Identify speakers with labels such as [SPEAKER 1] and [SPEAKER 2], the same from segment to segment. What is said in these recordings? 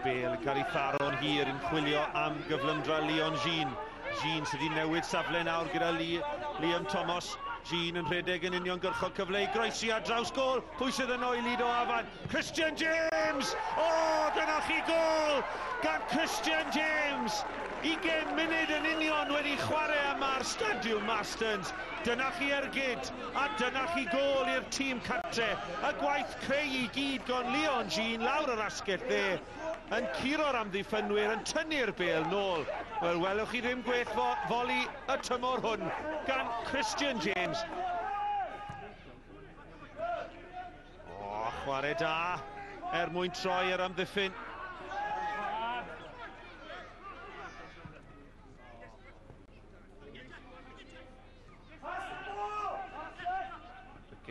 [SPEAKER 1] Mae'r bel yn cael ei tharo'n hir yn chwilio am gyflymdra Leon Jean. Jean sydd wedi newid safle nawr gyda Liam Thomas. Jean yn rhedeg yn uniongyrchol, cyfle i groesi ar draws gôl. Pwy sydd yno i Lido Afan? Christian James! O, dyna chi gôl gan Christian James! 20 munud yn union wedi chwarae yma ar Stadiwm Marstons. Dyna chi ergyd, a dyna chi gôl i'r tîm cartre. Y gwaith creu i gyd gan Leon Jean lawr yr asgell dde, yn curo'r amddiffynwyr, yn tynnu'r bêl nôl. Wel, welwch chi ddim gwell foli y tymor hwn gan Christian James. O, chwarae da er mwyn troi yr amddiffyn.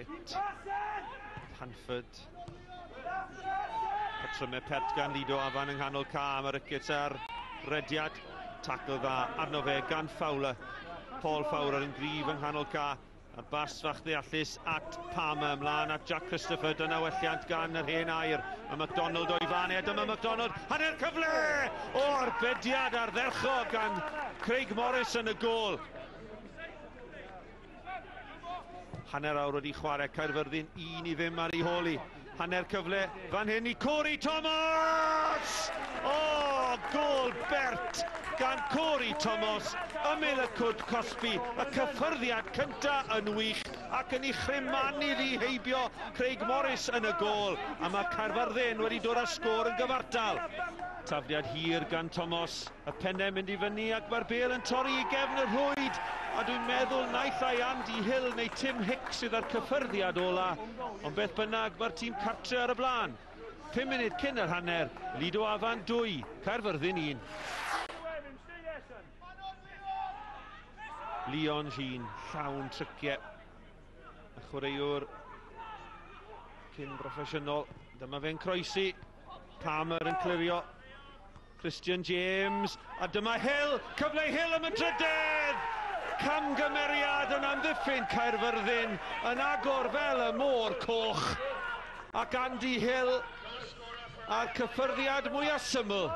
[SPEAKER 1] Rickett, Hanford, patrymau pert gan Lido Afan yng nghanol ca, mae Rickett ar rediad, tackle dda arno fe gan Fowler. Paul Fowler yn gryf yng nghanol ca, a bas fach ddeallus at Palmer, ymlaen at Jack Christopher, dyna welliant gan yr hen air, a MacDonald o'i fan e, dyma MacDonald, hanner cyfle! O, arbediad ardderchog gan Craig Morris yn y gôl. Hanner awr wedi chwarae, Caerfyrddin 1-0 ar ei hôl hi. Hanner cyfle fan hyn i Corey Thomas! O, gôl bert gan Corey Thomas, ymyl y cwrt cosbi, y cyffyrddiad cynta yn wych ac yn ei chrymanu iddi heibio Craig Morris yn y gôl, a mae Caerfyrddin wedi dod â sgôr yn gyfartal. Tafliad hir gan Thomas, y pennau mynd i fyny ac mae'r bêl yn torri i gefn y rhwyd, a dwi'n meddwl naill ai Andy Hill neu Tim Hicks sydd â'r cyffyrddiad ola, ond beth bynnag mae'r tîm cartre ar y blaen. 5 munud cyn yr hanner, Lido Afan 2, Caerfyrddin 1. Leon Jean, llawn tryciau. Y chwaraewr cyn broffesiynol. Dyma fe'n croesi. Palmer yn clirio. Christian James, a dyma Hill, cyfle i Hill am y drydedd! Camgymeriad yn amddiffyn Caerfyrddin, yn agor fel y môr coch. Ac Andy Hill a'r cyffyrddiad mwyaf syml.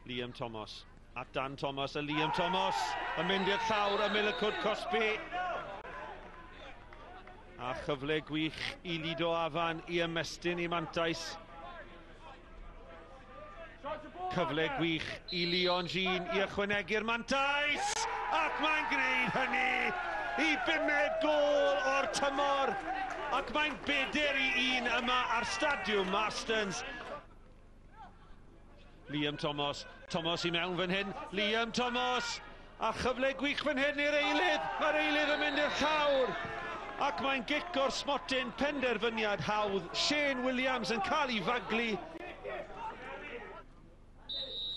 [SPEAKER 1] Liam Thomas, at Dan Thomas, a Liam Thomas yn mynd i'r llawr ymyl y cwrt cosbi. A chyfle gwych i Lido Afan i ymestyn i mantais. Cyfle gwych i Leon Jean i ychwanegu'r mantais, ac mae'n gwneud hynny i bumed gôl o'r tymor, ac mae'n 4-1 yma ar Stadiwm Marstons. Liam Thomas, Thomas i mewn fan hyn, Liam Thomas, a chyfle gwych fan hyn i'r eilydd, mae'r eilydd yn mynd i'r llawr, ac mae'n gic o'r smotyn, penderfyniad hawdd, Shane Williams yn cael ei faglu.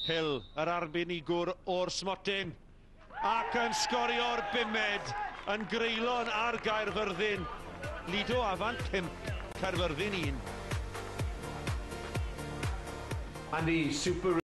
[SPEAKER 1] Hill, yr arbenigwr o'r smotyn, ac yn sgorio'r bumed yn greulon ar Gaerfyrddin. Lido Afan 5, Caerfyrddin 1.
[SPEAKER 2] Andy, super